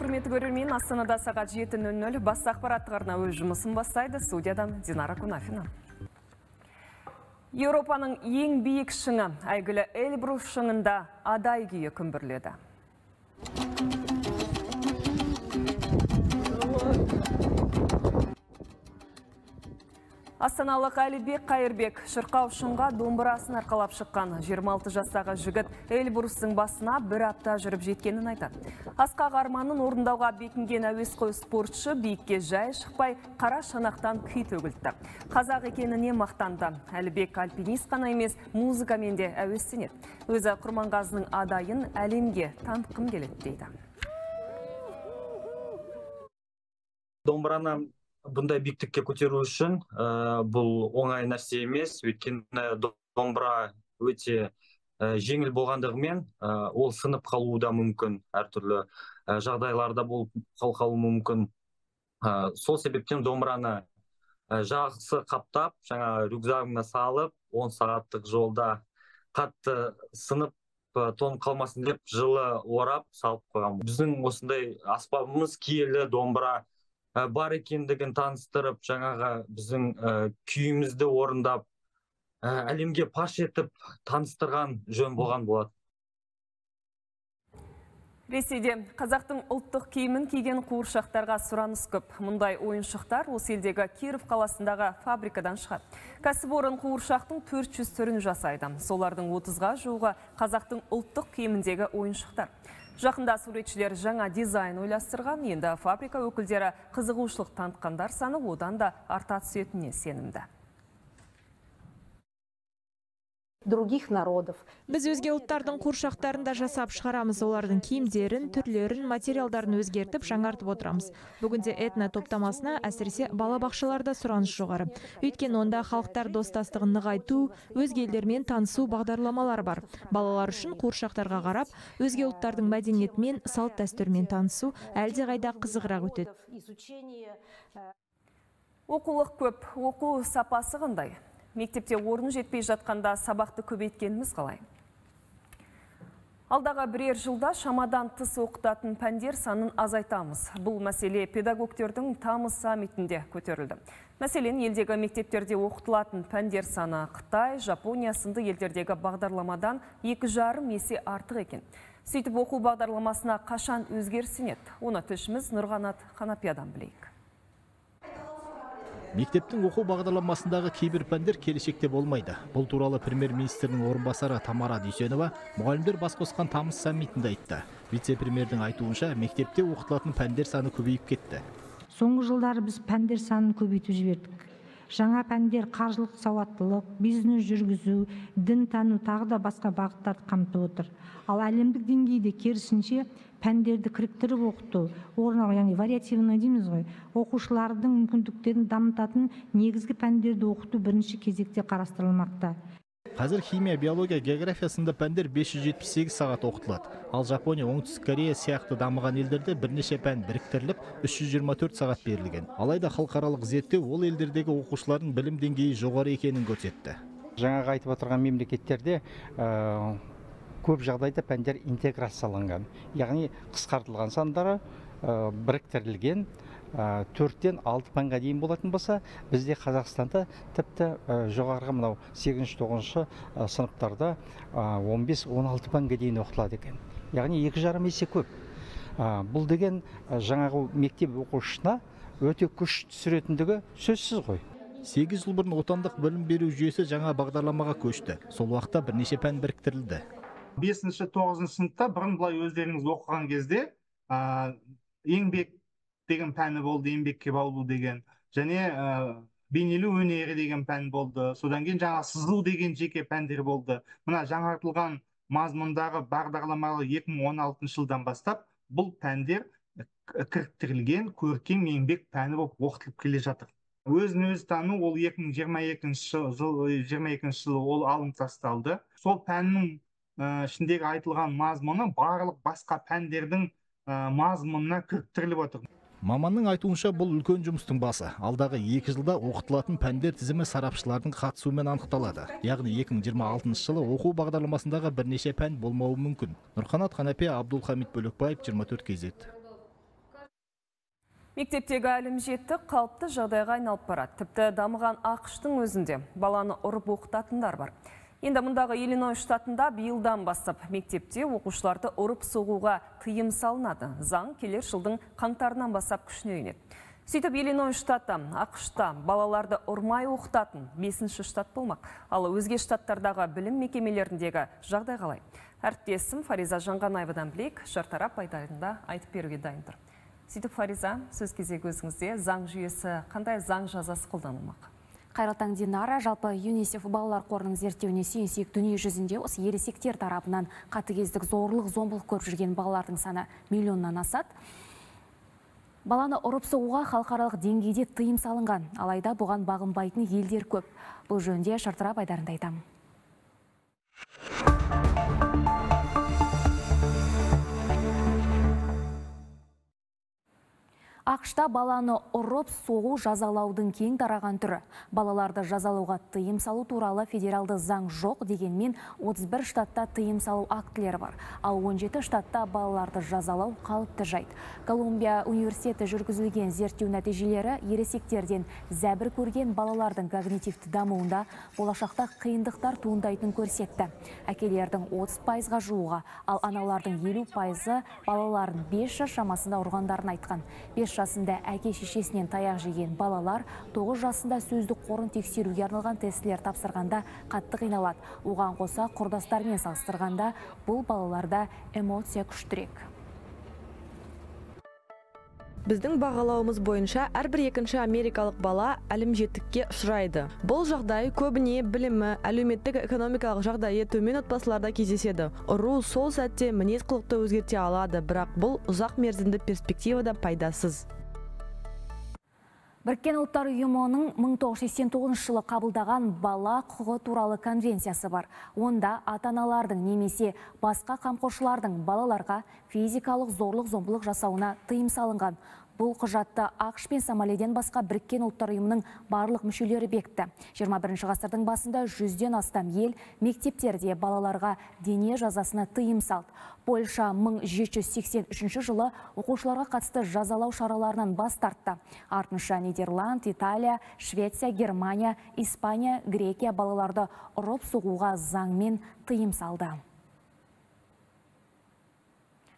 құрметті көрермен, Астанада сағат 7:00 бас ақпараттық арна өз жұмысын бастайды. Студиядан Динара Кунафина. Еуропаның ең биік шыңы, әйгілі Эльбрус шыңында адай күйі күмбірледі. Астаналық Әлібек Қайырбек шырқау шыңға домбырасын арқалап шыққан 26 жастағы жігіт Эльбрустың басына бір апта жүріп жеткенін айтады. Асқақ арманын орындауға бекінген әуесқой спортшы биікке жай шықпай қара шанақтан күй төгілді. Қазақ екеніне мақтанды. Әлібек альпинист қана емес, музыкамен де әуестенеді. Өзі Құрманғазының адайын әлемге танытқым келеді дейді. Домбыраны бұндай биіктікке көтеру үшін бұл оңай нәрсе емес, өйткені домбыра өте жеңіл болғандығымен ол сынып қалуы да мүмкін, әртүрлі жағдайларда болып қалуы мүмкін. Сол себептен домбыраны жақсы қаптап, жаңа рюкзагына салып, 10 сағаттық жолда қатты сынып тоңып қалмасын деп жылы орап салып қойған. Біздің осындай аспабымыз киелі домбыра бар екендігін таныстырып, жаңағы біздің күйімізді орындап, әлемге паш етіп таныстырған жөн болған болады. Ресейде қазақтың ұлттық киімін киген қуыршақтарға сұраныс көп. Мұндай ойыншықтар осы елдегі Киров қаласындағы фабрикадан шығады. Кәсіпорын қуыршақтың 400 түрін жасайды. Солардың 30-ға жуығы қазақтың ұлттық киіміндегі ойыншықтар. Жақында суретшілер жаңа дизайн ойластырған, енді фабрика өкілдері қызығушылық танытқандар саны одан да арта түсетініне сенімді. Других народов. Біз өзге ұлттардың қуыршақтарын да жасап шығарамыз, олардың киімдерін, түрлерін, материалдарын өзгертіп, жаңартып отырамыз. Бүгінде этно топтамасына әсіресе балабақшаларда сұраныс жоғары. Өйткені онда халықтар достастығын нығайту, өзге елдермен танысу бағдарламалар бар. Балалар үшін қуыршақтарға қарап, өзге ұлттардың мәдениетімен, салт дәстүрмен танысу әлдеқайда қызығырақ өтеді. Оқулық көп, оқу сапасы қандай? Мектепте орын жетпей жатқанда сабақты көбейткеніміз қалай? Алдағы бірер жылда шамадан тыс оқытатын пәндер санын азайтамыз. Бұл мәселе педагогтердің тамыз саммитінде көтерілді. Мәселен, елдегі мектептерде оқытылатын пәндер саны Қытай, Жапония сынды елдердегі бағдарламадан 2,5 есе артық екен. Сөйтіп оқу бағдарламасына қашан өзгерсін еді? Оны тілшіміз Нұрғанат Қанапиядан білейік. Мектептің оқу бағдарламасындағы кейбір пәндер келешекте болмайды. Бұл туралы премьер-министрдің орынбасары Тамара Дүйсенова мұғалімдер бас қосқан тамыз саммитінде айтты. Вице-премьердің айтуынша, мектепте оқытылатын пәндер саны көбейіп кетті. Соңғы жылдары біз пәндер санын көбейтіп жібердік. Жаңа пәндер қаржылық сауаттылық, бизнес жүргізу, дін тану тағы да басқа бағыттарды қамтып отыр. Ал әлемдік деңгейде керісінше пәндерді кіріктіріп оқыту, яғни вариативный дейміз ғой, оқушылардың мүмкіндіктерін дамытатын негізгі пәндерді оқыту бірінші кезекте қарастырылмақта. Қазір химия, биология, география сынды пәндер 578 сағат оқытылады. Ал Жапония, Оңтүстік Корея сияқты дамыған елдерде бірнеше пән біріктіріліп 324 сағат берілген. Алайда халықаралық зерттеу ол елдердегі оқушылардың білім деңгейі жоғары екенін көрсетті. Жаңағы айтып отырған мемлекеттерде көп жағдайда пәндер интеграцияланған, яғни қысқартылған сандары біріктірілген, 4-тен 6 пәнге дейін болатын болса, бізде Қазақстанда тіпті жоғарғы мынау 8-9 сыныптарда 15-16 пәнге дейін оқытылады екен. Яғни 2,5 есе көп. Бұл деген жаңағы мектеп оқушысына өте күш түсіретіндігі сөзсіз ғой. 8 жыл бұрын отандық білім беру жүйесі жаңа бағдарламаға көшті. Сол уақытта бірнеше пән біріктірілді. 5-9 сыныпта бұрын былай өздеріңіз оқыған кезде еңбек деген пәні болды, еңбекке баулу деген, және бейнелеу өнері деген пән болды. Содан кейін жаңа сызу деген жеке пәндер болды. Мына жаңартылған мазмұндағы бағдарламалы 2016 жылдан бастап бұл пәндер кіріктірілген көркем еңбек пәні болып оқытылып келе жатыр. Өзін-өзі тану ол 2022 жылы ол алынып тасталды. Сол пәннің ішіндегі айтылған мазмұны барлық басқа пәндердің мазмұнына кіріктіріліп отыр. Маманның айтуынша бұл үлкен жұмыстың басы. Алдағы 2 жылда оқытылатын пәндер тізімі сарапшылардың қатысуымен анықталады. Яғни 2026 жылы оқу бағдарламасындағы бірнеше пән болмауы мүмкін. Нұрқанат Қанапия, Абдулхамид Бөлекбаев, 24 KZ. Мектептегі әлім жетті қалыпты жағдайға айналып барады. Тіпті дамыған ақштың өзінде баланы ұрып оқытатындар бар. Енді мұндағы Иллинойс штатында биылдан бастап мектепте оқушыларды ұрып соғуға тыйым салынады. Заң келер жылдың қаңтарынан бастап күшіне енеді. Сөйтіп Иллинойс штаты ақшта балаларды ұрмай оқытатын 5-ші штат болмақ. Ал өзге штаттардағы білім мекемелеріндегі жағдай қалай? Әріптесім Фариза Жанғанаевадан білейік, шартарап айтарында айтып беруге дайын тұр. Сөйтіп Фариза, сөз кезегі өзіңізде, заң жүйесі қандай заң жазасы қолданылмақ? Қайырлы таң, Динара. Жалпы ЮНИСЕФ балалар қорының зерттеуіне сүйенсек, дүние жүзінде осы ересектер тарапынан қатыгездік, зорлық, зомбылық көріп жүрген балалардың саны миллионнан асады. Баланы ұрып соғуға халықаралық деңгейде тыйым салынған, алайда бұған бағынбайтын елдер көп. Бұл жөнінде шартарап айдарында айтамын. Ақшта баланы ұрып соғу жазалаудың кең тараған түрі. Балаларды жазалауға тыйым салу туралы федералды заң жоқ, дегенмен 31 штатта тыйым салу актілері бар. Ал 17 штатта балаларды жазалау қалыпты жайт. Колумбия университеті жүргізілген зерттеу нәтижелері ересектерден зәбір көрген балалардың когнитивті дамуында болашақта қиындықтар туындайтын көрсетті. Әкелердің 30%-ға жуығы, ал аналардың 50%-ы балаларын 5 жас шамасында ұрғандарын айтқан. 5 жасында әке шешесінен таяқ жеген балалар 9 жасында сөздік қорын тексеруге арналған тестілер тапсырғанда қатты қиналады. Оған қоса құрдастармен салыстырғанда бұл балаларда эмоция күштірек. Біздің бағалауымыз бойынша әрбір екінші америкалық бала әлімжеттікке ұшырайды. Бұл жағдай көбіне білімі, әлеуметтік экономикалық жағдайы төмен отбасыларда кездеседі. Ұру сол сәтте мінез құлықты өзгерте алады, бірақ бұл ұзақ мерзімді перспективада пайдасыз. Біріккен ұлттар ұйымының 1989 жылы қабылдаған бала құқығы туралы конвенциясы бар. Онда ата-аналардың немесе басқа қамқоршылардың балаларға физикалық зорлық-зомбылық жасауына тыйым салынған. Бұл құжатты ақш пен Сомалиден басқа Біріккен ұлттар ұйымының барлық мүшелері бекітті. 21 ғасырдың басында 100-ден астам ел мектептерде балаларға дене жазасына тыйым салды. Польша 1783 жылы оқушыларға қатысты жазалау шараларынан бас тартты. Артынша Нидерланд, Италия, Швеция, Германия, Испания, Грекия балаларды ұрып соғуға заңмен тыйым салды.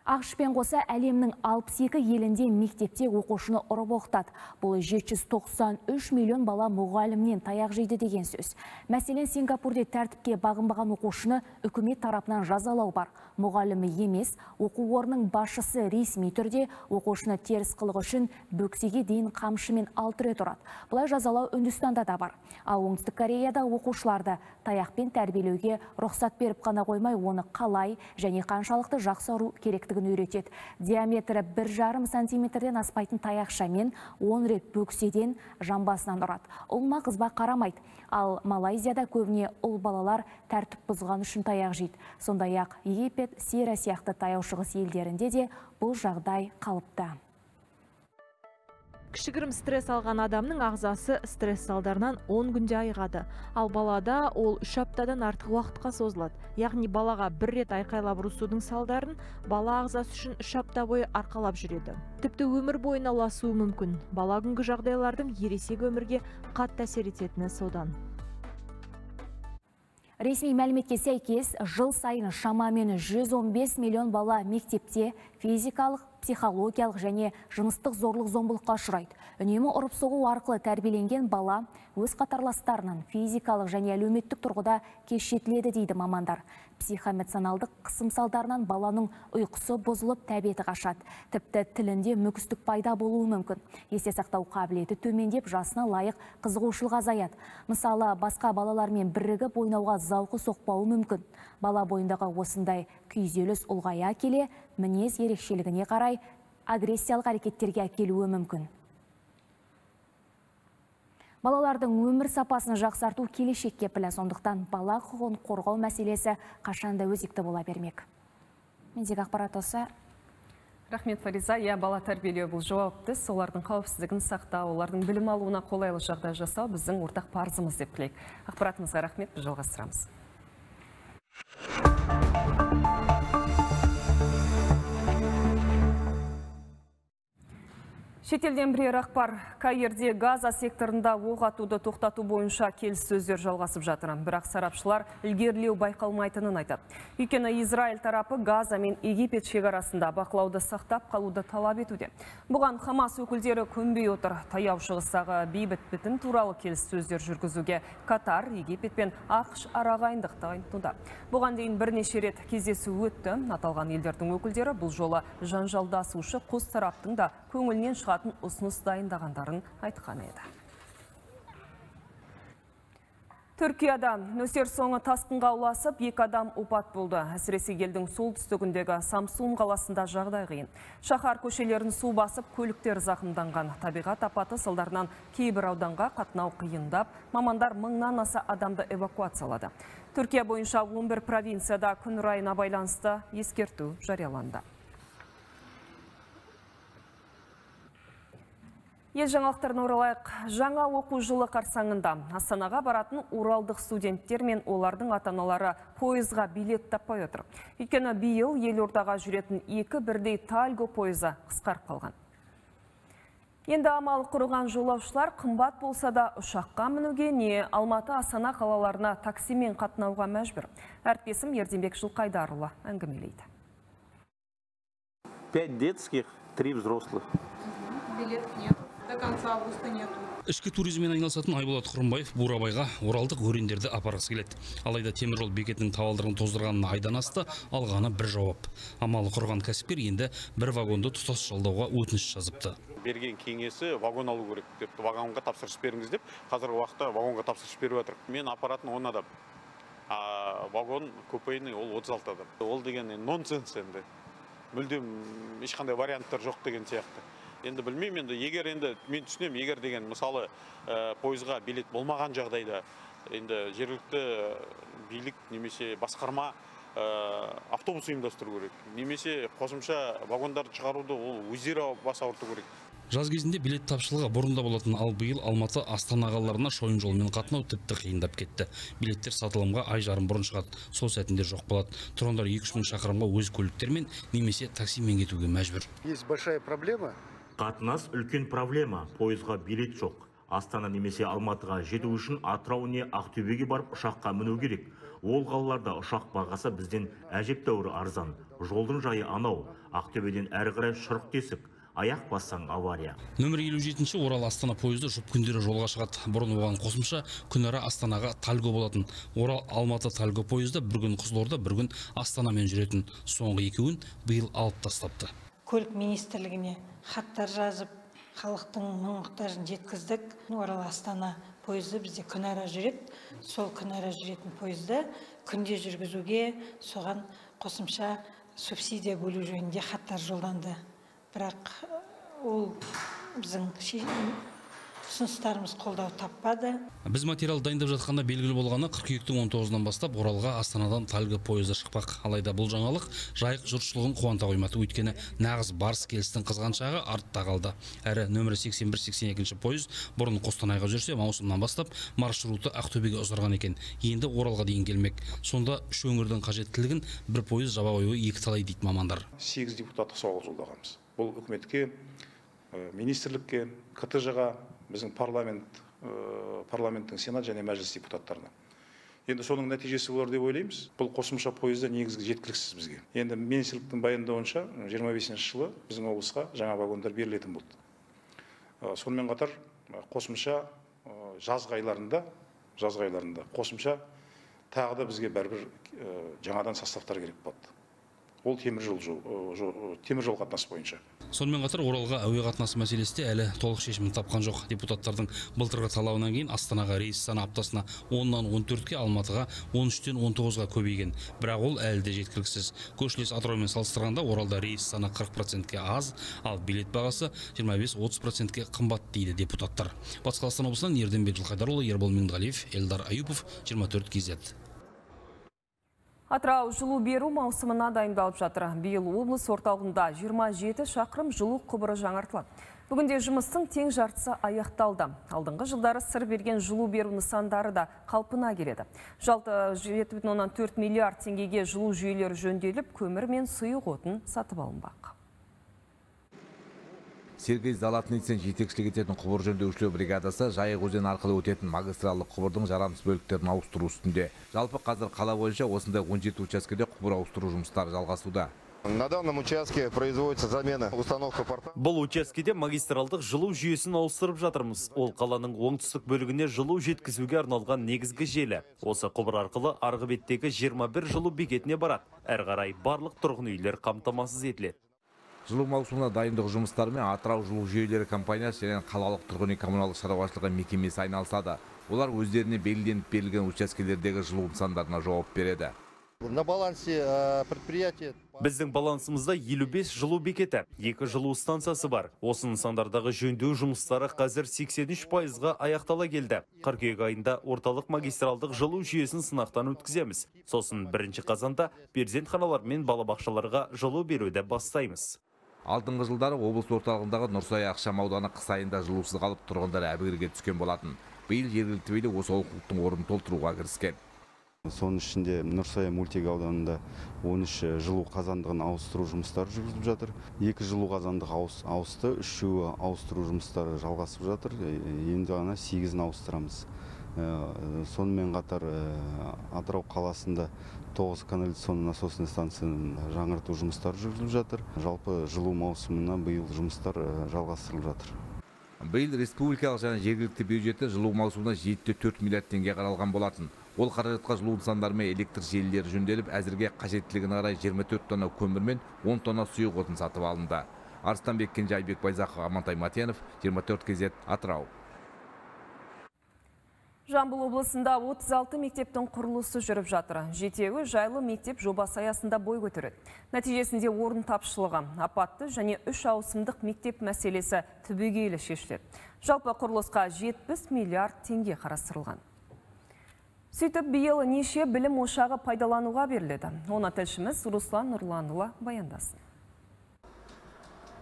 Ақшпен қоса әлемнің 62 елінде мектепте оқушыны ұрып оқытады. Бұл 793 миллион бала мұғалімнен таяқ жейді деген сөз. Мәселен, Сингапурде тәртіпке бағынбаған оқушыны үкімет тарапынан жазалау бар. Мұғалімі емес, оқу орнының басшысы ресми түрде оқушыны теріс қылығы үшін бөксеге дейін қамшымен 6 рет ұрады. Бұлай жазалау Үндістанда да бар. Ал Оңтүстік Кореяда оқушыларды таяқпен тәрбиелеуге рұқсат беріп қана қоймай, оны қалай және қаншалықты жақсы ұру керектігін үйретеді. Диаметрі 1,5 сантиметрден аспайтын таяқшамен 10 рет бөкседен жамбасынан ұрады. Ұлма қызба қарамайды. Ал Малайзияда көбіне ұл балалар тәртіп бұзған үшін таяқ жейді. Сондай-ақ Египет, Сирия сияқты таяу шығыс елдерінде де бұл жағдай қалыпты. Кішігірім стресс алған адамның ағзасы стресс салдарынан 10 күнде айығады. Ал балада ол 3 аптадан артық уақытқа созылады. Яғни балаға бір рет айқайлап ұрысудың салдарын бала ағзасы үшін 3 апта бойы арқалап жүреді. Тіпті өмір бойына ұласуы мүмкін. Бала күнгі жағдайлардың ересек өмірге қатты әсер ететіні содан. Ресми мәліметке сәйкес, жыл сайын шамамен 115 миллион бала мектепте физикалық, психологиялық және жыныстық зорлық-зомбылыққа ұшырайды. Үнемі ұрып соғу арқылы тәрбиеленген бала өз қатарластарынан физикалық және әлеуметтік тұрғыда кешетіледі дейді мамандар. Психоэмоционалдық қысым салдарынан баланың ұйқысы бұзылып, тәбеті қашады. Тіпті тілінде мүкістік пайда болуы мүмкін. Есте сақтау қабілеті төмендеп, жасына лайық қызығушылық азаяды. Мысалы, басқа балалармен бірігіп ойнауға зауқы соқпауы мүмкін. Бала бойындағы осындай күйзеліс ұлғая келе, мінез ерекшелігіне қарай агрессиялық әрекеттерге әкелуі мүмкін. Балалардың өмір сапасын жақсарту келешекке кепілі, сондықтан бала құқығын қорғау мәселесі қашанда өзекті бола бермек. Мендегі ақпарат осы. Рахмет, Фариза. Бала тәрбиелеу бұл жауапты, олардың қауіпсіздігін сақтау, олардың білім алуына қолайлы жағдай жасау біздің ортақ парызымыз деп білейік. Ақпаратымызға рахмет, біз жалғастырамыз. Шетелден бірер ақпар. Каирде Газа секторында оқ атуды тоқтату бойынша келіссөздер жалғасып жатыр. Бірақ сарапшылар ілгерілеу байқалмайтынын айтады. Өйткені Израиль тарапы Газа мен Египет шекарасында бақылауды сақтап қалуды талап етуде. Бұған Хамас өкілдері көнбей отыр. Таяу шығыстағы бейбіт бітім туралы келіссөздер жүргізуге Катар, Египет пен ақш арағайындық танытуда. Бұған дейін бірнеше рет кездесу өтті. Аталған елдердің өкілдері бұл жолы жанжалдасушы қос тараптың да көңілінен шығатын ұсыныс дайындағандарын айтқан еді. Түркияда нөсер соңы тасқынға ұласып, 2 адам опат болды. Әсіресе елдің солтүстігіндегі Самсун қаласында жағдай қиын. Шаһар көшелерін су басып, көліктер зақымданған. Табиғат апаты салдарынан кейбір ауданға қатынау қиындап, мамандар 1000-нан аса адамды эвакуациялады. Түркия бойынша 11 провинцияда күн райына байланысты ескерту жарияланды. Ел жаңалықтарына оралайық. Жаңа оқу жылы қарсаңында Астанаға баратын уралдық студенттер мен олардың ата-аналары пойызға билет таппай отыр. Өйткені биыл елордаға жүретін 2 бірдей тальго пойызы қысқарып қалған. Енді амал құрған жолаушылар қымбат болса да ұшаққа мінуге не Алматы, Астана қалаларына таксимен қатынауға мәжбүр. Әріптесім Ерденбек Жылқайдарұлы әңгімелейді. 5 детских, 3 взрослых. Билетов нет. До конца августа нету. Ішкі туризммен айналысатын Айболат Құрымбаев Бурабайға оралдық өрендерді апарғысы келеді. Алайда теміржол бекетінің табалдырығын тоздырғанына айдан асты, алғаны бір жауап. Амалы құрған кәсіпкер енді бір вагонды тұтас жалдауға өтініш жазыпты. Берген кеңесі вагон алу керек деп, вагонға тапсырыс беріңіз деп, қазіргі уақытта вагонға тапсырыс беріп жатыр. Мен апаратын 10 адам. Вагон купейный ол 36 адам. Ол деген нонсенс енді. Мүлдем ешқандай варианттар жоқ деген сияқты. Енді білмеймін, енді егер енді мен түсінемін, егер деген мысалы пойызға билет болмаған жағдайда енді жергілікті билік немесе басқарма автобус ұйымдастыру керек, немесе қосымша вагондарды шығаруды ол өздері бас ауырту керек. Жаз кезінде билет тапшылығы бұрында болатын, ал биыл Алматы, Астана қалаларына шойын жолмен қатынау тіпті қиындап кетті. Билеттер сатылымға ай жарым бұрын шығады, сол сәтінде жоқ болады. Тұрғындар 2-3 мың шақырымға өз көліктермен немесе таксимен кетуге мәжбүр. Есть большая проблема. Қатынас үлкен проблема. Пойызға билет жоқ. Астана немесе Алматыға жету үшін Атырау не Ақтөбеге барып ұшаққа міну керек. Ол қалаларда ұшақ бағасы бізден әжептәуір арзан. Жолдың жайы анау. Ақтөбеден әрі қарай шұрық тесік. Аяқ бассаң авария. Нөмір 57-ші Орал Астана пойызы жұп күндері жолға шығады. Бұрын оған қосымша күнара Астанаға тальго болатын. Орал Алматы тальго пойызда бір күн Қызылорда, бір күн Астанамен жүретін. Соңғы екеуін биыл алып тастапты. Көлік министрлігіне хаттар жазып, халықтың мұң-мұқтажын жеткіздік. Орал Астана пойызы бізде күнара жүреді. Сол күнара жүретін пойызды күнде жүргізуге соған қосымша субсидия бөлу жөнінде хаттар жолданды. Бірақ ол біздің ұсыныстарымыз қолдау таппады. Біз материал дайындап жатқанда белгілі болғаны қыркүйектің 19-нан бастап Оралға Астанадан тальго пойызы шықпақ. Алайда бұл жаңалық жайық жұртшылығын қуанта қоймады. Өйткені нағыз барыс келістің қызған шағы артта қалды. Әрі нөмірі 81-82 пойыз бұрын Қостанайға жүрсе, маусымнан бастап маршруты Ақтөбеге ұзарған екен. Енді Оралға дейін келмек. Сонда үш өңірдің қажеттілігін бір пойыз жаба қоюы екі талай дейді мамандар. 8 депутаттық сауал жолдағанбыз. Бұл үкіметке, министрлікке, КТЖ-ға, біздің парламенттің сенат және мәжіліс депутаттарына. Енді соның нәтижесі болар деп ойлаймыз. Бұл қосымша пойызда негізгі жеткіліксіз бізге. Енді министрліктің баяндауынша 25 жылы біздің облысқа жаңа вагондар берілетін болды. Сонымен қатар қосымша жазғы айларында қосымша тағы да бізге бәрібір жаңадан составтар керек болды. Ол темір жол қатынасы бойынша. Сонымен қатар Оралға әуе қатынасы мәселесі әлі толық шешімін тапқан жоқ. Депутаттардың былтырғы талабынан кейін Астанаға рейс саны аптасына 10-нан 14-ке, Алматыға 13-тен 19-ға көбейген. Бірақ ол әлі де жеткіліксіз. Көршілес Атыраумен салыстырғанда Оралда рейс саны 40%-ке аз, ал билет бағасы 25-30%-ке қымбат дейді депутаттар. Батыс Қазақстан облысынан Ерденбек Жылқайдарұлы, Ербол Меңдіғалиев, Эльдар Аюпов, 24 KZ. Атырау жылу беру маусымына дайындалып жатыр. Биыл облыс орталығында 27 шақырым жылу құбыры жаңартылады. Бүгінде жұмыстың тең жартысы аяқталды. Алдыңғы жылдары сыр берген жылу беру нысандары да қалпына келеді. Жалпы 7,4 миллиард теңгеге жылу жүйелері жөнделіп, көмір мен сұйық отын сатып алынбақ. Сергей Золотницын жетекшілік ететін құбыр жөндеушілер бригадасы Жайық өзені арқылы өтетін магистралдық құбырдың жарамсыз бөліктерін ауыстыру үстінде. Жалпы қазір қала бойынша осындай 17 учаскеде құбыр ауыстыру жұмыстары жалғасуда. На данном участке производится замена установка порта. Бұл учаскеде магистралдық жылу жүйесін ауыстырып жатырмыз. Ол қаланың оңтүстік бөлігіне жылу жеткізуге арналған негізгі желі. Осы құбыр арқылы арғы беттегі 21 жылу бекетіне барады. Әрі қарай барлық тұрғын үйлер қамтамасыз етіледі. Жылу маусымына дайындық жұмыстарымен Атырау жылу жүйелері компаниясы және қалалық тұрғын үй коммуналдық шаруашылығы мекемесі айналысады. Олар өздеріне белгіленіп берілген учаскелердегі жылу нысандарына жауап береді. На балансе предприятия. Біздің балансымызда 55 жылу бекеті, 2 жылу станциясы бар. Осы нысандардағы жөндеу жұмыстары қазір 83%-ға аяқтала келді. Қыркүйек айында орталық магистралдық жылу жүйесін сынақтан өткіземіз. Сосын 1 қазанда перзентханалар мен балабақшаларға жылу беруді бастаймыз. Алдыңғы жылдары облыс орталығындағы Нұрсай Ақшам ауданы қыс айында жылусыз қалып тұрғындар әбігерге түскен болатын. Биыл жергілікті билік осы олқылықтың орнын толтыруға кіріскен. Соның ішінде Нұрсай мөлтек ауданында 13 жылу қазандығын ауыстыру жұмыстары жүргізіліп жатыр. 2 жылу қазандығы ауысты, 3 ауыстыру жұмыстары жалғасып жатыр. Енді ғана 8-ін ауыстырамыз. Сонымен қатар Атырау қаласында 9 канализационный насосный станцияның жаңарту жұмыстары жүргізіліп жатыр. Жалпы жылу маусымына биыл жұмыстар жалғастырылып жатыр. Биыл республикалық және жергілікті бюджеті жылу маусымына 7,4 миллиард теңге қаралған болатын. Ол қаражатқа жылу нысандары мен электр желілері жөнделіп, әзірге қажеттілігіне қарай 24 тонна көмір мен 10 тонна сұйық отын сатып алынды. Арыстанбек Кенже, Айбек Байзақов, Амантай Матенов, 24 KZ, Атырау. Жамбыл облысында 36 мектептің құрылысы жүріп жатыр. Жетеуі жайлы мектеп жобасы аясында бой көтереді. Нәтижесінде орын тапшылығы, апатты және 3 ауысымдық мектеп мәселесі түбегейлі шешіледі. Жалпы құрылысқа 70 миллиард теңге қарастырылған. Сөйтіп, биыл неше білім ошағы пайдалануға беріледі. Оны тілшіміз Руслан Нұрланұлы баяндасын.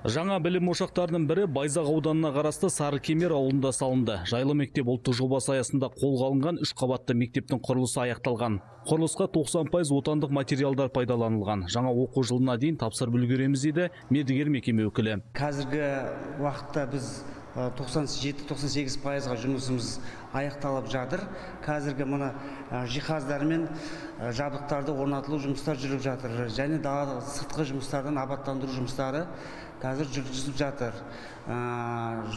Жаңа білім ошақтарының бірі Байзақ ауданына қарасты Сарыкемер ауылында салынды. Жайлы мектеп ұлттық жобасы аясында қолға алынған 3 қабатты мектептің құрылысы аяқталған. Құрылысқа 90% отандық материалдар пайдаланылған. Жаңа оқу жылына дейін тапсырып үлгереміз дейді мердігер мекеме өкілі. Қазіргі уақытта біз 97-98%-ға жұмысымыз аяқталып жатыр. Қазіргі мұны жиһаздар мен жабдықтарды орнатылу жұмыстар жүріп жатыр. Және далада сыртқы жұмыстардан абаттандыру жұмыстары қазір жүргізіліп жатыр.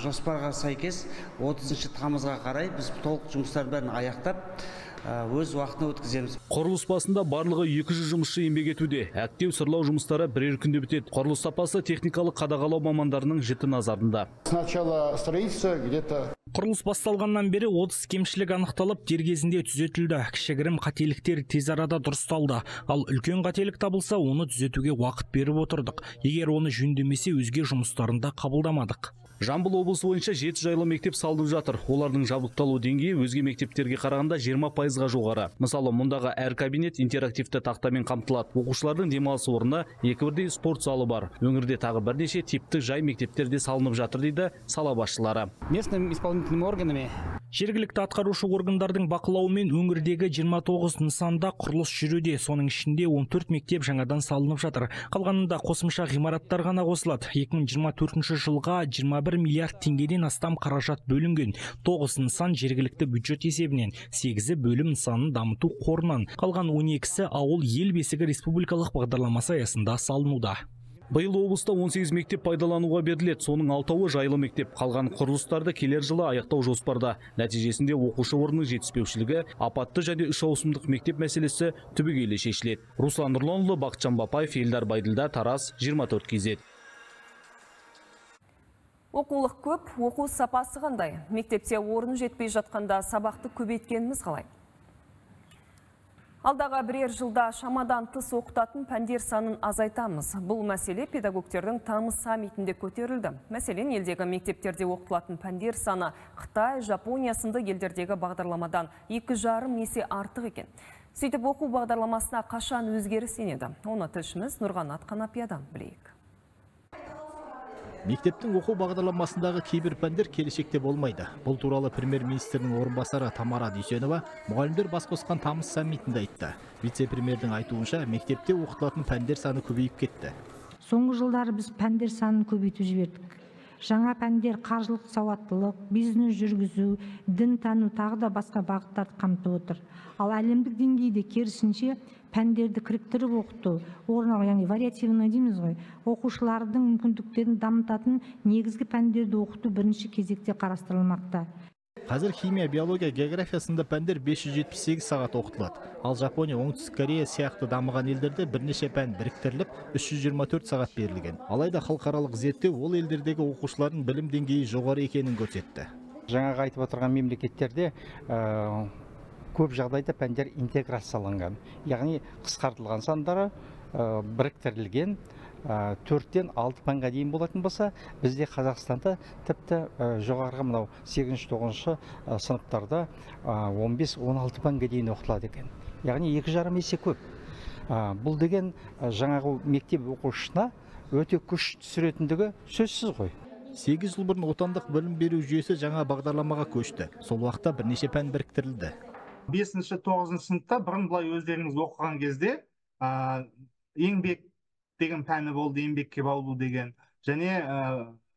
Жоспарға сәйкес 30 тамызға қарай біз толық жұмыстар бәрін аяқтап өз уақытына өткіземіз. Құрылыс басында барлығы 200 жұмысшы еңбек етуде. Әктеу сырлау жұмыстары бірер күнде бітеді. Құрылыс сапасы техникалық қадағалау мамандарының жіті назарында. Сначала строительство где-то. Құрылыс басталғаннан бері 30 кемшілік анықталып, дер кезінде түзетілді. Кішігірім қателіктер тез арада дұрысталды. Ал үлкен қателік табылса, оны түзетуге уақыт беріп отырдық. Егер оны жөндемесе, өзге жұмыстарында қабылдамадық. Жамбыл облысы бойынша 7 жайлы мектеп салынып жатыр. Олардың жабдықталу деңгейі өзге мектептерге қарағанда 20%-ға жоғары. Мысалы, мұндағы әр кабинет интерактивті тақтамен қамтылады. Оқушылардың демалыс орнына 2 бірдей спорт залы бар. Өңірде тағы бірнеше типтік жай мектептерде салынып жатыр дейді сала басшылары. Местными исполнительными органами жергілікті атқарушы органдардың бақылауымен өңірдегі 29 нысанда құрылыс жүруде. Соның ішінде 14 мектеп жаңадан салынып жатыр. Қалғанында қосымша ғимараттар ғана қосылады. 2024 жылға 21 миллиард теңгеден астам қаражат бөлінген. 9 нысан жергілікті бюджет есебінен, 8-і бөлім нысанын дамыту қорынан, қалған 12-сі ауыл ел бесігі республикалық бағдарламасы аясында салынуда. Биыл облыста 18 мектеп пайдалануға беріледі. Соның 6-ы жайлы мектеп. Қалған құрылыстарды келер жылы аяқтау жоспарда. Нәтижесінде оқушы орнының жетіспеушілігі, апатты және 3 ауысымдық мектеп мәселесі түбегейлі шешіледі. Руслан Нұрланұлы, Бақытжан Бапаев, Елдар Байділда, Тараз, 24 KZ. Оқулық көп, оқу сапасы қандай? Мектепте орын жетпей жатқанда сабақты көбейткеніміз қалай? Алдағы бірер жылда шамадан тыс оқытатын пәндер санын азайтамыз. Бұл мәселе педагогтердің тамыз саммитінде көтерілді. Мәселен, елдегі мектептерде оқытылатын пәндер саны Қытай, Жапония сынды елдердегі бағдарламадан 2,5 есе артық екен. Сөйтіп оқу бағдарламасына қашан өзгеріс енеді? Оны тілшіміз Нұрғанат Қанапиядан білейік. Мектептің оқу бағдарламасындағы кейбір пәндер келешекте болмайды. Бұл туралы премьер-министрінің орынбасары Тамара Дүйсенова мұғалімдер бас қосқан тамыз саммитінде айтты. Вице-премьердің айтуынша, мектепте оқытылатын пәндер саны көбейіп кетті. Соңғы жылдары біз пәндер санын көбейтіп жібердік. жаңа пәндер қаржылық сауаттылық, бизнес жүргізу, дін тану тағы да басқа бағыттарды қамтып отыр. Ал әлемдік деңгейде керісінше пәндерді кіріктіріп оқыту, яғни вариативный дейміз ғой, оқушылардың мүмкіндіктерін дамытатын негізгі пәндерді оқыту бірінші кезекте қарастырылмақта. Қазір химия, биология, география сынды пәндер 578 сағат оқытылады. Ал Жапония, Оңтүстік Корея сияқты дамыған елдерде бірнеше пән біріктіріліп 324 сағат берілген. Алайда халықаралық зерттеу ол елдердегі оқушылардың білім деңгейі жоғары екенін көрсетті. Жаңағы айтып отырған мемлекеттерде көп жағдайда пәндер интеграцияланған, яғни қысқартылған сандары біріктірілген, 4-тен 6 пәнге дейін болатын болса, бізде Қазақстанда тіпті жоғарғы мынау 8-9 сыныптарда 15-16 пәнге дейін оқытылады екен. Яғни 2,5 есе көп. Бұл деген жаңағы мектеп оқушысына өте күш түсіретіндігі сөзсіз ғой. 8 жыл бұрын отандық білім беру жүйесі жаңа бағдарламаға көшті. Сол уақытта бірнеше пән біріктірілді. 5-9 сыныпта бұрын былай өздеріңіз оқыған кезде еңбек деген пәні болды, еңбекке баулу деген, және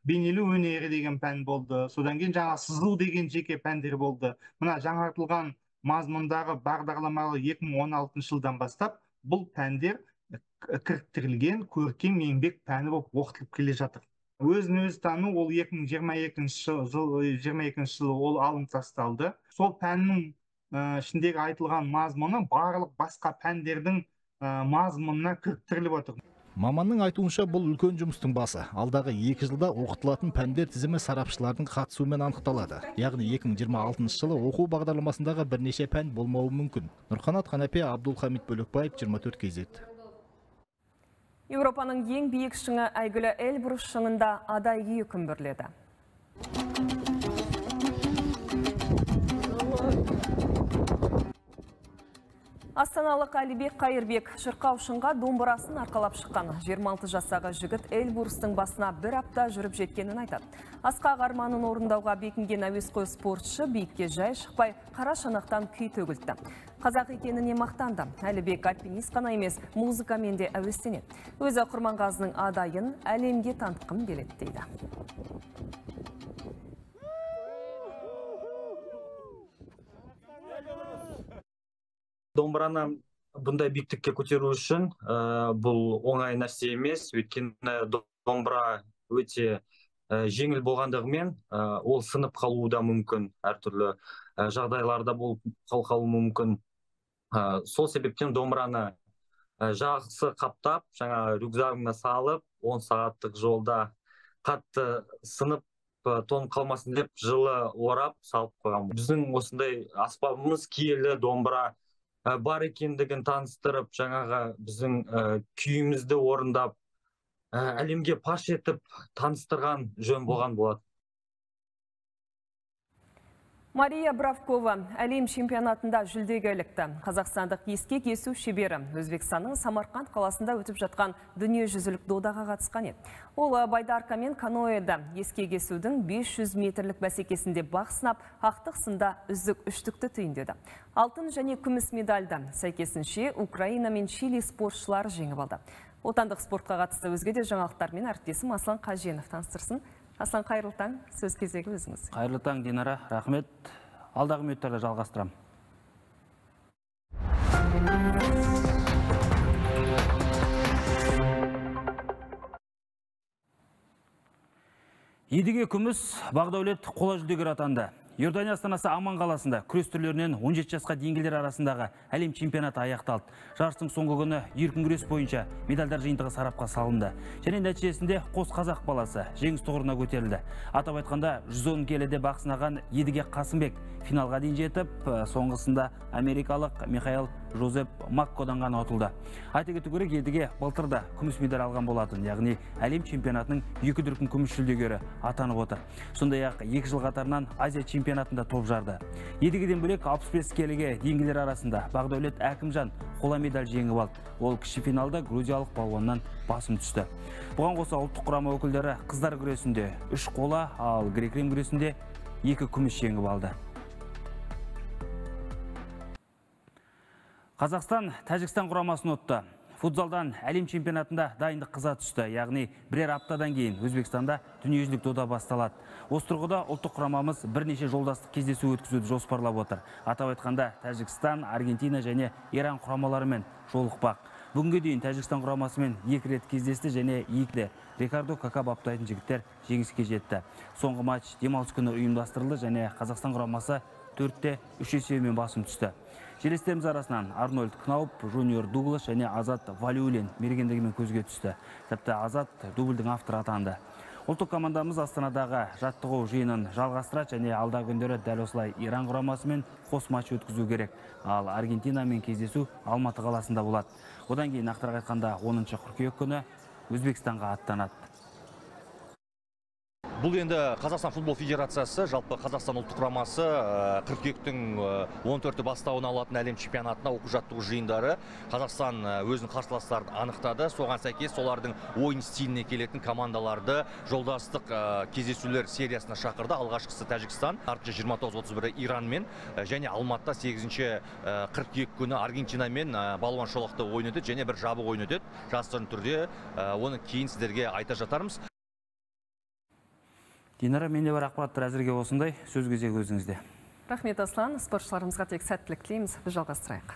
бейнелеу өнері деген пән болды. Содан кейін жаңа сызу деген жеке пәндер болды. Мына жаңартылған мазмұндағы бағдарламалы 2016 жылдан бастап бұл пәндер кіріктірілген көркем еңбек пәні болып оқытылып келе жатыр. Өзін-өзі тану ол 2022 жылы ол алынып тасталды. Сол пәннің ішіндегі айтылған мазмұны барлық басқа пәндердің мазмұнына кіріктіріліп отыр. Маманның айтуынша бұл үлкен жұмыстың басы. Алдағы 2 жылда оқытылатын пәндер тізімі сарапшылардың қатысуымен анықталады. Яғни 2026 жылы оқу бағдарламасындағы бірнеше пән болмауы мүмкін. Нұрқанат Қанапе, Абдулхамид Бөлекбаев, 24 KZ. Еуропаның ең биік шыңы әйгілі Эльбрус шыңында адай күйі күмбірледі. Астаналық Әлібек Қайырбек шырқау шыңға домбырасын арқалап шыққан 26 жастағы жігіт Эльбрустың басына бір апта жүріп жеткенін айтады. Асқақ арманын орындауға бекінген әуесқой спортшы биікке жай шықпай қара шанақтан күй төгілді. Қазақ екеніне мақтанды. Әлібек альпинист қана емес, музыкамен де әуестенеді. Өзі Құрманғазының адайын әлемге танытқым келеді дейді. Домбыраны бұндай биіктікке көтеру үшін бұл оңай нәрсе емес, өйткені домбыра өте жеңіл болғандығымен ол сынып қалуы да мүмкін, әртүрлі жағдайларда болып қалуы мүмкін. Сол себептен домбыраны жақсы қаптап, жаңа рюкзагына салып, 10 сағаттық жолда қатты сынып тонып қалмасын деп жылы орап салып қойған. Біздің осындай аспабымыз киелі домбыра бар екендігін таныстырып, жаңаға біздің күйімізді орындап, әлемге паш етіп таныстырған жөн болған болады. Мария Бравкова әлем чемпионатында жүлдеге ілікті. Қазақстандық ескек есу шебері Өзбекстанның Самарқанд қаласында өтіп жатқан дүниежүзілік додаға қатысқан еді. Ол байдарка мен каноэда ескек есудің 500 метрлік бәсекесінде бақ сынап, ақтық сында үздік үштікті түйіндеді. Алтын және күміс медальды сәйкесінше Украина мен Чили спортшылары жеңіп алды. Отандық спортқа қатысты өзге де жаңалықтармен әріптесім Аслан Қаженов таныстырсын. Аслан, қайырлы таң, сөз кезегі өзіңіз. Қайырлы таң, Динара, рахмет. Алдағы минуттарда жалғастырам. Едіге күміс Бақдәулет қола жүлдегер атанды. Иордания астанасы Аман қаласында күрес түрлерінен 17 жасқа дейінгілер арасындағы әлем чемпионаты аяқталды. Жарыстың соңғы күні еркін күрес бойынша медальдар жиынтығы сарапқа салынды. Және нәтижесінде қос қазақ баласы жеңіс тұғырына көтерілді. Атап айтқанда 110 келіде бақ сынаған Едіге Қасымбек финалға дейін жетіп, соңғысында америкалық Михаил Жозеп Маккодан ғана ұтылды. Айта кету керек, Едіге былтырда күміс медаль алған болатын, яғни әлем чемпионатының 2 дүркін күміс жүлдегері атанып отыр. Сондай-ақ 2 жыл қатарынан Азия чемпионатында топ жарды. Едігеден бөлек 65 келіге дейінгілер арасында Бақдәулет Әкімжан қола медаль жеңіп алды. Ол кіші финалда грузиялық балуаннан басым түсті. Бұған қоса ұлттық құрама өкілдері қыздар күресінде 3 қола, ал грек-рим күресінде 2 күміс жеңіп алды. Қазақстан Тәжікстан құрамасын ұтты. Футзалдан әлем чемпионатында дайындық қыза түсті. Яғни бірер аптадан кейін Өзбекстанда дүниежүзілік дода басталады. Осы тұрғыда ұлттық құрамамыз бірнеше жолдастық кездесу өткізуді жоспарлап отыр. Атап айтқанда Тәжікстан, Аргентина және Иран құрамаларымен жолықпақ. Бүгінге дейін Тәжікстан құрамасымен 2 рет кездесті және 2-де Рикардо Кака баптайтын жігіттер жеңіске жетті. Соңғы матч демалыс күні ұйымдастырылды және Қазақстан құрамасы 4-те 3 есебімен басым түсті. Жерлестеріміз арасынан Арнольд Кнауп, Жуниор Дуглас және Азат Валиулин мергендігімен көзге түсті. Тіпті Азат дубльдің авторы атанды. Ұлттық командамыз Астанадағы жаттығу жиынын жалғастырады және алдағы күндері дәл осылай Иран құрамасымен қос матч өткізу керек. Ал Аргентинамен кездесу Алматы қаласында болады. Одан кейін нақтырақ айтқанда 10 қыркүйек күні Өзбекстанға аттанады. Бұл енді Қазақстан футбол федерациясы, жалпы Қазақстан ұлттық құрамасы қыркүйектің 14-і бастауын алатын әлем чемпионатына оқу-жаттығу жиындары Қазақстан өзінің қарсыластарын анықтады. Соған сәйкес солардың ойын стиліне келетін командаларды жолдастық кездесулер сериясына шақырды. Алғашқысы Тәжікстан, 29-31 Иранмен және Алматыда 8-ші қыркүйек күні Аргентинамен балуан шолақты ойын өтеді және бір жабық ойын өтеді. Жасырын түрде оны кейін сіздерге айта жатармыз. Динара, менде бар ақпараттар әзірге осындай. Сөз кезегі өзіңізде. Рахмет, Аслан. Спортшыларымызға тек сәттілік тілейміз. Біз жалғастырайық.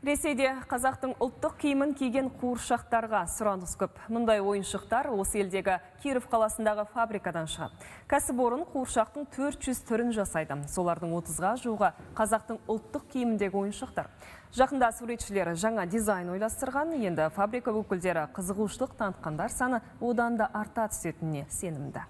Ресейде қазақтың ұлттық киімін киген қуыршақтарға сұраныс көп. Мұндай ойыншықтар осы елдегі Киров қаласындағы фабрикадан шығады. Кәсіпорын қуыршақтың 400 түрін жасайды. Солардың 30-ға жуығы қазақтың ұлттық киіміндегі ойыншықтар. Жақында суретшілері жаңа дизайн ойластырған, енді фабрика өкілдері қызығушылық танытқандар саны одан да арта түсетініне сенімді.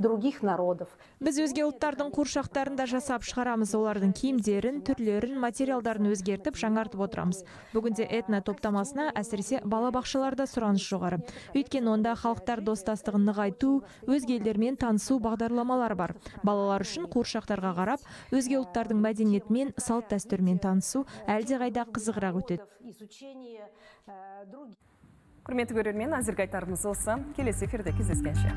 Других народов. Біз өзге ұлттардың қуыршақтарында жасап шығарамыз, олардың киімдерін, түрлерін, материалдарын өзгертіп, жаңартып отырамыз. Бүгінде этно топтамасына әсіресе балабақшаларда сұраныс жоғары. Өйткені онда халықтар достастығын нығайту, өзге елдермен танысу бағдарламалар бар. Балалар үшін қуыршақтарға қарап, өзге ұлттардың мәдениетімен, салт дәстүрімен танысу әлдеқайда қызығырақ өтеді. Құрметті көрермен, әзірге айтарымыз осы. Келесі эфирде кездескенше.